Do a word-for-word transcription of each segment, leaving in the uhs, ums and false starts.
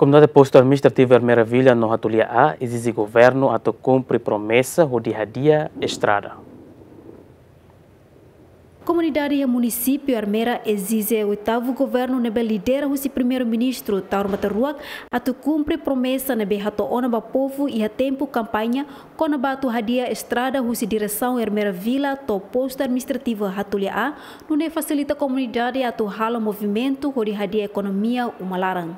Komunidade Postu Administrativu Ermera Vila no Hatulia A ezije governu atu kumpre promesa hodi hadi'a estrada. Komunidade iha munisípiu Ermera ezije oitavu governu ne'ebé lidera husi Primeiru-Ministru Taur Matan Ruak atu kumpre promesa ne'ebé hato'o ona ba povu iha tempu kampaña kona-ba atu hadi'a estrada husi diresaun Ermera Vila to'o Postu Administrativu Hatulia A, nune'e fasilita komunidade atu halo movimentu hodi hadi'a ekonomia uma laran.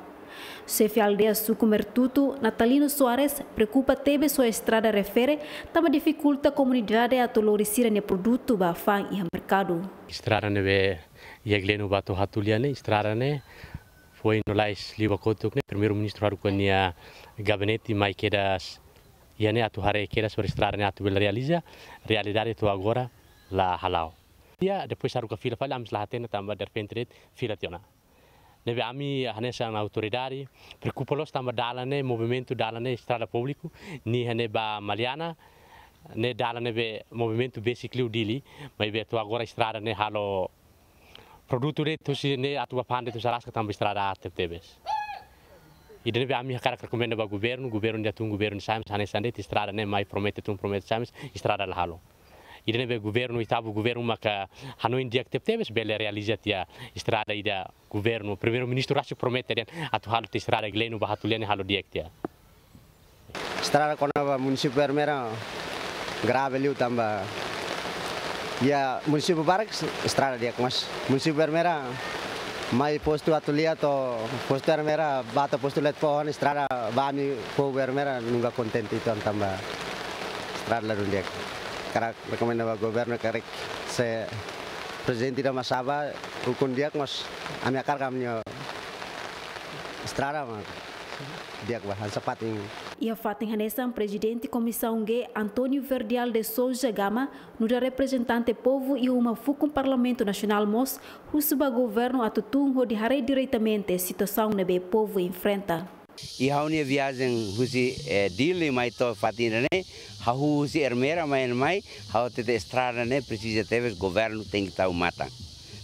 Xefe aldeia suku Mertutu, Natalino Soares, preokupa tebes ho estrada refere, tanba difikulta komunidade atu lori sira-nia produtu ba fa'an iha merkadu. Estrada ne'ebé iha Gleno ba to'o Hatulia ne'e, estrada ne'e foin no lais liu ba kotuk ne'e, Primeiru-Ministru haruka nia gabinete mai kedas iha ne'e atu haree kedas para estrada ne'e atu bele realiza, realidade to'o agora la hala'o. Iha, depois haruka fila fali, ami la hatene tanba derrepente de'it fila tiha ona. Ne'ebé ami hanesan autoridade preokupa loos tanba dalan ne'e, movimentu dalan ne'e estrada públiku, nia iha ne'e ba Maliana, ne'e dalan ne'ebé movimentu besik liu Dili, maibé to'o agora estrada ne'e halo produtu de'it husi ne'e atu ba fa'an de'it husi Alaska tanba estrada aat tebetebes. Ida ne'ebé ami hakarak rekomenda ba governu, governu ida tun, governu Simes, hanesan de'it estrada ne'e mai promete tun, promete Simes, estrada la halo. Ida ne'ebé governu, oitavu governu maka hanoin di'ak tebetebes bele realiza tiha estrada ida governu, Primeiru-Ministru rasik promete dehan atu halo tiha estrada Gleno ba Hatulia ne'e halo di'ak tiha. Estrada kona-ba munisípiu Ermera grave liu tanba iha munisípiu barak estrada di'ak, mas munisípiu Ermera mai postu Hatulia to'o postu Ermera ba to'o postu Letefoho ne'e estrada ba ami povu Ermera nunka kontente uitoan tanba estrada ladún di'ak. Hakarak rekomenda ba governu karik se prezidente ida mak sa'e ba ukun di'ak, mas ami hakarak ami-nia estrada mak di'ak ba hanesan fatin. Iha fatin hanesan, Prezidente Komisaun G, António Verdial de Sousa Gama, nu'udar reprezentante povu iha uma fukun Parlamentu Nasionál mós husu ba governu atu tun hodi haree diretamente situasaun ne'ebé povu enfrenta. Iha ha'u-nia viajen husi, eh, Dili mai to'o fatin ida-ne'e, hahú husi Ermera mai, mai, ha'u hatete estrada ne'e presiza tebes governu tenke tau matan.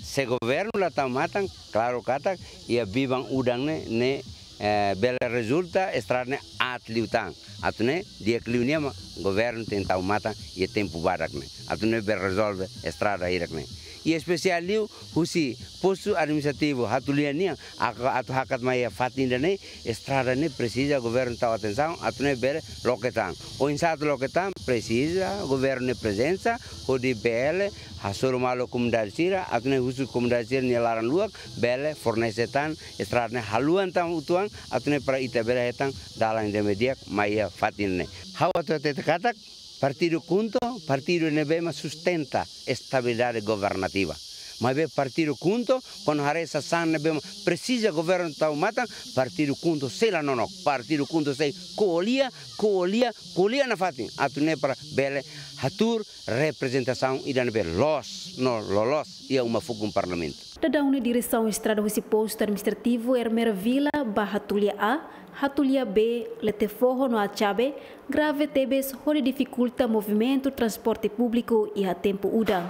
Se governu la tau matan, klaru katak iha biban udan ne'e, ne'e, eh, bele rezulta estrada ne'e aat liután. Atu nune'e di'ak liu nian mak governu tenke tau matan iha tempu badak ne'e. Atu nune'e bele rezolve estrada hirak ne'e. I espesiál liu husi postu administrativu Hatulia nian, aka atu hakat mai iha fatin ida-ne'e, estrada ne'e presiza governu tau atensaun, atu nune'e bele loke tan. Oinsá atu loke tan, presiza governu nia prezensa, hodi bele hasoru malu komunidade sira, atu nune'e husu komunidade sira-nia laran luak, bele fornese tan estrada ne'e haluan tan uitoan, atu nune'e para ita bele hetan dalan ida ne'ebé di'ak mai iha fatin ne'e. Ha'u atu hatete katak, partidu KHUNTO, partidu ne'ebé mak sustenta estabilidade governativa. Maibé partidu KHUNTO, kuandu haree sasán ne'ebé mak presiza governu tau matan, partidu KHUNTO sei la nonook, partidu KHUNTO sei ko'alia, ko'alia, ko'alia nafatin, atu nune'e para bele hatuur reprezentasaun ida ne'ebé loos no loloos iha uma fukun Parlamentu. Daudaun ne'e diresaun estrada husi postu administrativu Ermera Vila ba Hatulia A, Hatulia B, Letefoho no Atxabe, grave tebes hodi difikulta movimentu transporte públiku iha tempu udan.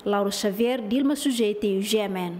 Lauro Xavier, Dilma Sujeiti, G M N.